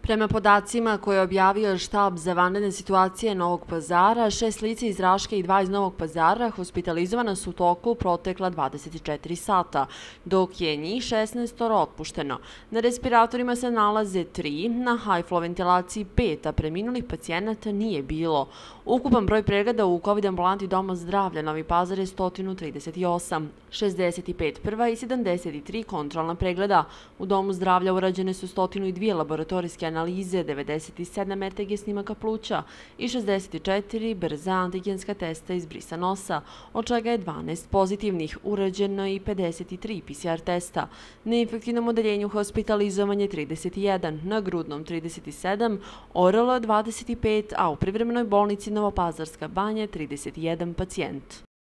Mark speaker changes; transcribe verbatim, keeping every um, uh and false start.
Speaker 1: Prema podacima koje je objavio štab za vanredne situacije Novog Pazara, šest lica iz Raške i dva iz Novog Pazara hospitalizovana su u toku protekla dvadeset četiri sata, dok je njih šesnaest otpušteno. Na respiratorima se nalaze tri, na high-flow ventilaciji pet, a preminulih pacijenata nije bilo. Ukupan broj pregleda u COVID ambulanti Doma zdravlja Novi Pazar je sto trideset osam, šezdeset pet prva i sedamdeset tri kontrolna pregleda. U Domu zdravlja urađene su sto dva laboratorijske analize, devedeset sedam er te ge snimaka pluća i šezdeset četiri brza antigenska testa iz brisa nosa, od čega je dvanaest pozitivnih, urađeno i pedeset tri pe ce er testa. Na infektivnom odeljenju hospitalizovan je trideset jedan, na grudnom trideset sedam, oralo dvadeset pet, a u privremenoj bolnici Novopazarska banja trideset jedan pacijent.